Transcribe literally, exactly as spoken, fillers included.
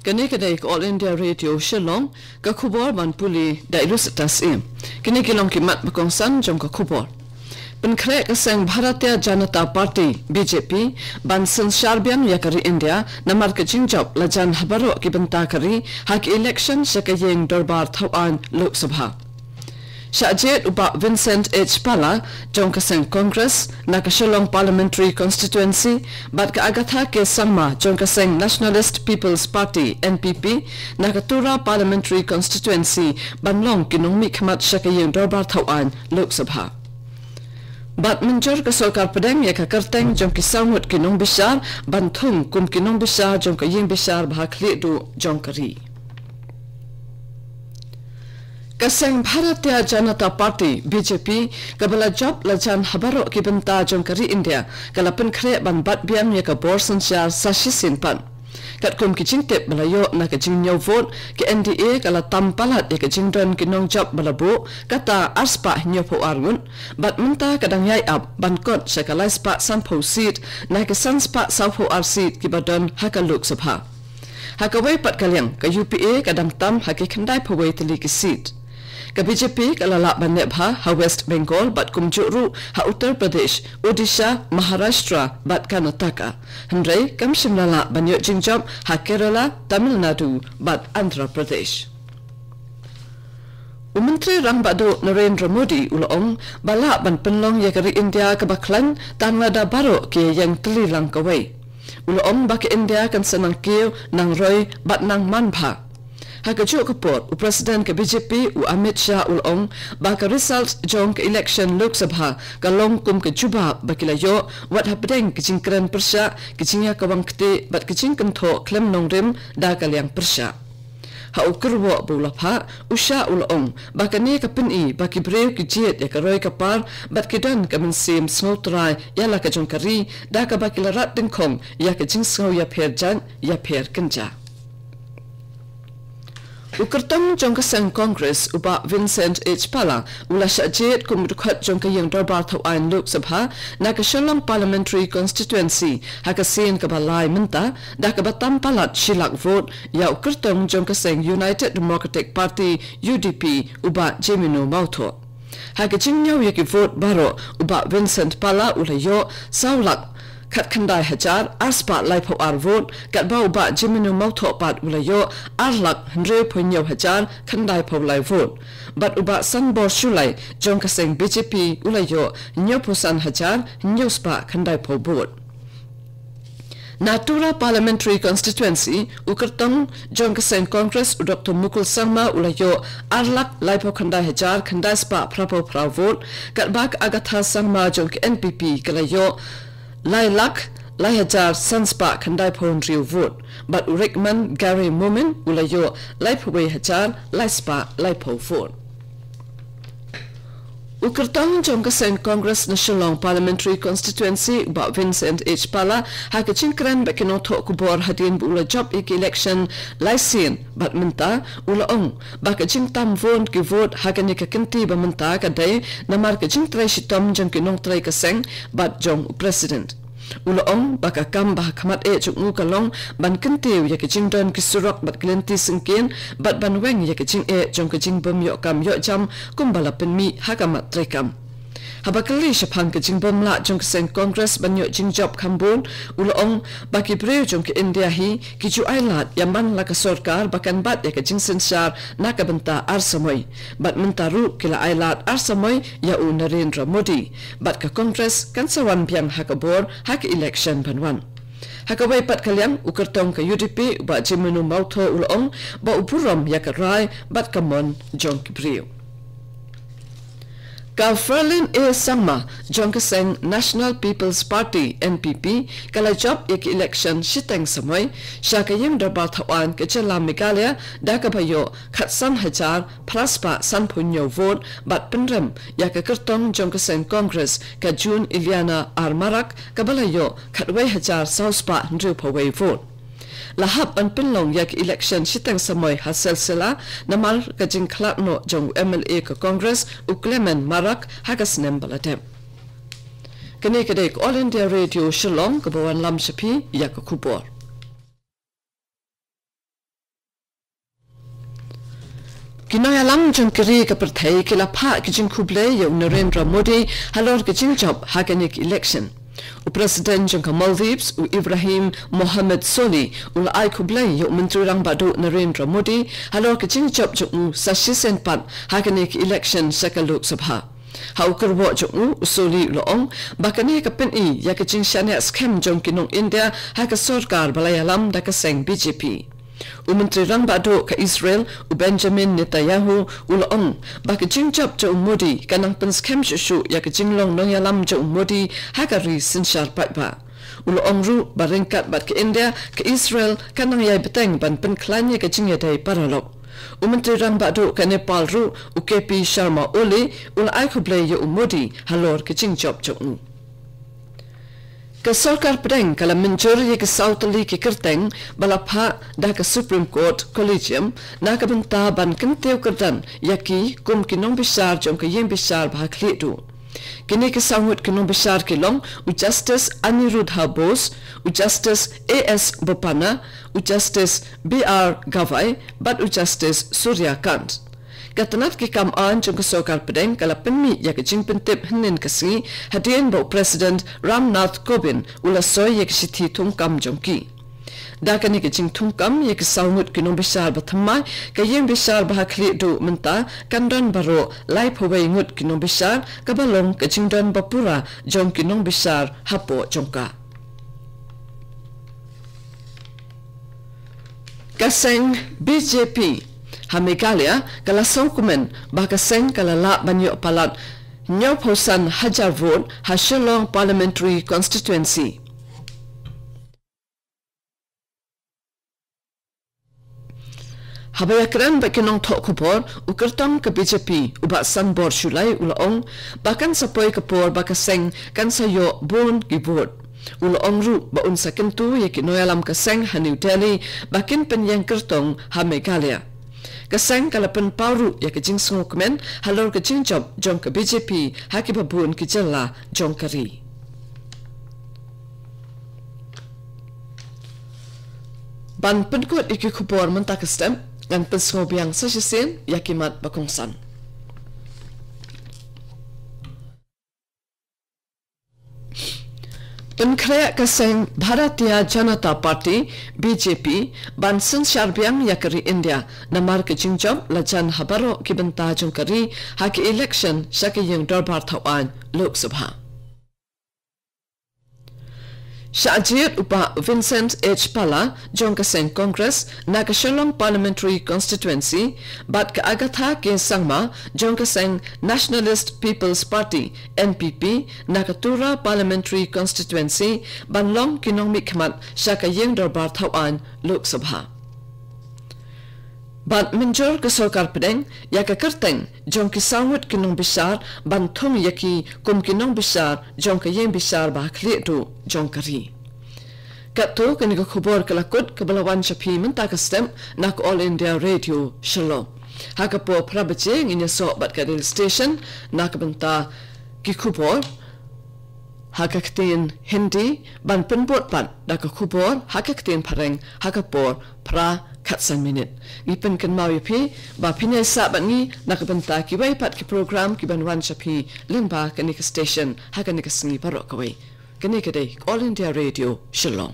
Kane ka dei ka All India Radio Shillong, ka khubor ban pule da i Lusitas Im. Kine ki long ki mat ba kongsan jong ka khubor. Pynkhreh ka seng Bharatiya Janata Party, B J P, ban synshar biang ïa ka ri India, namar ka jingjop la jan ha baroh ki bynta ka ri, ha ki election sha ka ïing dorbar thawaiñ Lok Sabha. Shah jied u Bah Vincent H Pala jong ka seng Congress na ka Shillong Parliamentary Constituency, bad ka Agatha K Sangma jong ka seng Nationalist People's Party, N P P, na ka Tura Parliamentary Constituency, ban long ki nongmihkhmat sha ka ïing dorbar thawaiñ Lok Sabha. Bad mynjur ka sorkar pdeng ïa ka kyrteng jong ki saw ngut ki nongbishar ban thung kum ki nongbishar jong ka ïing bishar ba ha khlieh duh jong ka ri. Ka seng Bharatiya Janata Party, B J P, kaba la jop la jan ha baroh ki bynta jong ka ri India, ka la pynkhreh ban bat biang ïa ka bor synshar sa shisien pat. Katkum ki jingtip ba la ïoh na ka jingñiew vote, ka N D A ka la tam palat ïa ka jingdon ki nongjop ba la buh, kata arspah hynñiewphew ar ngut, bad mynta ka dang ïai ap ban kot sha ka laispah sanphew seat na ki sanspah sawphew ar seat kiba don ha ka Lok Sabha. Ha kawei pat ka liang, ka U P A ka dang tam ha ki khyndaiphew wei tylli ki seat. Ka B J P ka la lah ban neh bha ha West Bengal bad kumjuh ruh ha Uttar Pradesh, Odisha, Maharashtra bad Karnataka. Hynrei kam shym la lah ban ïoh jingjop ha Kerala, Tamil Nadu bad Andhra Pradesh. U Myntri Rangbah Duh Narendra Modi u la ong ba lah ban pynlong ïa ka ri India kaba khlaiñ tang lada baroh ki ïeng tylli lang kawei. U la ong ba ka India kan sa nang kiew, nang roi bad nang man bha. Ha kajuh ka por, u President ka B J P u Amit Shah u la ong ba ka result jong ka election Lok Sabha ka long kum ka jubab ba ki la ïoh, wat hapdeng ki jingkren pyrshah, ki jingïakawang ktieh bad ki jingkynthoh khlem nongrim da ka liang pyrshah. Ha u kyrwoh ba u la phah, u Shah u la ong ba kane ka pyni ba ki briew ki jied ïa ka roi ka par bad ki don ka mynsiem sngewtrai ïa la ka jong ka ri, da kaba ki la rat dyngkhong ïa ka jingsngew ïapher jait ïapher kynja. U kyrtong jong ka seng Congress u Bah Vincent H Pala u la shah jied kum u dkhot jong ka ïing dorbar thawaiñ Lok Sabha na ka Shillong Parliamentary Constituency ha ka sien kaba lai mynta, da kaba tam palat shi lak vote ïa u kyrtong jong ka seng United Democratic Party, U D P, u Bah Jemino Mawthoh. Ha ka jingñiew ïa ki vote baroh, u Bah Vincent Pala u la ïoh saw lak khatkhyndai hajar arspah laiphew ar vote, katba u Bah Jemino Mawthoh pat u la ïoh ar lak hynriewphew hynñiew hajar khyndaiphew lai vote. Bad u Bah Sanbor Shullai jong ka seng B J P u la ïoh hynñiewphew san hajar hynñiewspah khyndaiphew vote. Na Tura Parliamentary Constituency, u kyrtong jong ka seng Congress u Doctor Mukul Sangma u la ïoh ar lak laiphew khyndai hajar khyndaispah phraphew phra vote, katba ka Agatha Sangma jong ka N P P ka la ïoh lai lak lai hajar sanspah khyndaiphew hynriew vote, bad u Rickman Gary Momin u la ïoh laiphew wei hajar laispah laiphew vote. U kyrtong jong ka seng Congress na Shillong Parliamentary Constituency, u Bah Vincent H Pala, ha ka jingkren bad ki nongthoh khubor hadien ba u la jop ïa ka election lai sien bad mynta, u la ong ba ka jingtam vote ki vote ha kane ka kynti ba mynta ka dei namar ka jingtrei shitom jong ki nongtrei ka seng bad jong u President. U la ong ba ka kam ba ha khmat eh jong u ka long ban kyntiew ïa ka jingdon ki surok bad ki lynti syngkien, bad ban weng ïa ka jingeh jong ka jingbym ïoh kam ïoh jam kumba la pynmih ha ka mat treikam. Haba kylli shaphang ka jingbym lah jong ka seng Congress ban ïoh jingjop kham bun, u la ong ba ki briew jong ka India hi ki ju ailad ïa man la ka sorkar ba kan bat ïa ka jingsynshar na ka bynta ar samoi. Bad mynta ruh ki la ailad ar samoi ïa u Narendra Modi. Bad ka Congress kan sa wan biang ha ka bor ha ka election ban wan. Ha kawei pat ka liang, u kyrtong ka U D P u Bah Jemino Mawthoh u la ong ba u burom ïa ka rai bad ka mon jong ki briew. Ka Ferlin A Sangma jong ka seng National People's Party, N P P, ka la jop ïa ka election shiteng samoi sha ka ïing dorbar thawaiñ ka jylla Meghalaya, da kaba ïoh khatsan hajar phraspah sanphew hynñiew vote, bad pynrem ïa ka kyrtong jong ka seng Congress ka June Iliana R Marak, kaba la ïoh khatwei hajar sawspah hynriewphew wei vote. La hap ban pynlong ïa ka election shiteng samoi ha Silsila namar ka jingkhlad noh jong u M L A ka Congress u Clement Marak ha ka snem ba la dep. Kane ka dei ka All India Radio Shillong kaba wanlam sha phi ïa ka khubor. Ki nongïalam jong ka ri ka pyrthei ki la phah ki jingkhublei ïa u Narendra Modi halor ka jingjop ha kane ka election. U President jong ka Maldives, u Ibrahim Mohamed Solih, u la ai khublei ïa u Myntri Rangbah Duh Narendra Modi halor ka jingjop jong u sa shisien pat ha kane ka election sha ka Lok Sabha. Ha u kyrwoh jong u, u Solih u la ong ba kane ka pyni ïa ka jingshaniah skhem jong ki nong India ha ka sorkar ba la ïalam da ka seng B J P. U Myntri Rangbah Duh ka Israel, u Benjamin Netanyahu, u la ong ba ka jingjop jong u Modi ka nang pynskhem shuh shuh ïa ka jinglong nongïalam jong u Modi ha ka ri synshar paidbah. U la ong ruh ba ryngkat bad ka India, ka Israel ka nang ïai bteng ban pynkhlaiñ ïa ka jingïadei paralok. U Myntri Rangbah Duh ka Nepal ruh, u K P Sharma Oli, u la ai khublei ïa u Modi halor ka jingjop jong u. Ka sorkar pdeng ka la mynjur ïa ki saw tylli ki kyrteng ba la phah da ka Supreme Court Collegium na ka bynta ban kyntiew kyrdan ïa ki kum ki nongbishar jong ka ïing bishar ba ha khlieh duh. Kine ki saw ngut ki nongbishar ki long u Justice Aniruddha Bose, u Justice A S Bopanna, u Justice B R Gavai bad u Justice Surya Kant. Ka tnat ki kam aiñ jong ka sorkar pdeng ka la pynmih ïa ka jingpyntip hynnin ka sngi hadien ba u President Ram Nath Kovind u la soi ïa ka shithi thungkam jong ki. Da kane ka jingthungkam ïa ki saw ngut ki nongbishar ba thymmai, ka ïing bishar ba ha khlieh duh mynta kan don baroh laiphew wei ngut ki nongbishar, kaba long ka jingdon ba pura jong ki nongbishar hapoh jong ka. Ka seng B J P ha Meghalaya ka la sngewkmen ba ka seng ka la lah ban ïoh palat hynñiewphew san hajar vote ha Shillong Parliamentary Constituency. Haba ïakren bad ki nongthoh khubor, u kyrtong ka B J P, u Bah Sanbor Shullai, u la ong ba kan sa poi ka por ba ka seng kan sa ïoh bun ki vote. U la ong ruh ba un sa kyntu ïa ki nongïalam ka seng ha New Delhi ba kin pynïeng kyrtong ha Meghalaya. Ka seng ka la pynpaw ruh ïa ka jingsngewkmen halor ka jingjop jong ka B J P ha kiba bun ki jylla jong ka ri. Ban pynkut ïa ki khubor mynta ka step, ngan pynsngew biang sa shisien ïa ki mat ba kongsan. Pynkhreh ka seng Bharatiya Janata Party, B J P, ban synshar biang ïa ka ri India namar ka jingjop la jan ha baroh ki bynta jong ka ri ha ki election sha ka ïing dorbar thawaiñ Lok Sabha. Shah jied u Bah Vincent H Pala jong ka seng Congress na ka Shillong Parliamentary Constituency bad ka Agatha K Sangma jong ka seng Nationalist People's Party, N P P, na ka Tura Parliamentary Constituency ban long ki nongmihkhmat sha ka ïing dorbar thawaiñ Lok Sabha. Bad mynjur ka sorkar pdeng ïa ka kyrteng jong ki saw ngut ki nongbishar ban thung ïa ki kum ki nongbishar jong ka ïing bishar ba ha khlieh duh jong ka ri. Katto kane ka khubor ka la kut kaba la wan sha phi mynta ka step na ka All India Radio Shillong. Ha ka por phra baje ngin ïasoh bad ka Daily Station na ka bynta ki khubor ha ka ktien Hindi, ban pynbud pat da ka khubor ha ka ktien Phareng ha ka por phra khatsan minit. Ngi pynkynmaw ïa phi ba phin ïai sah bad ngi na ka bynta kiwei pat ki program ki ban wan sha phi lyngba kane ka station ha kane ka sngi baroh kawei. Kane ka dei All India Radio Shillong.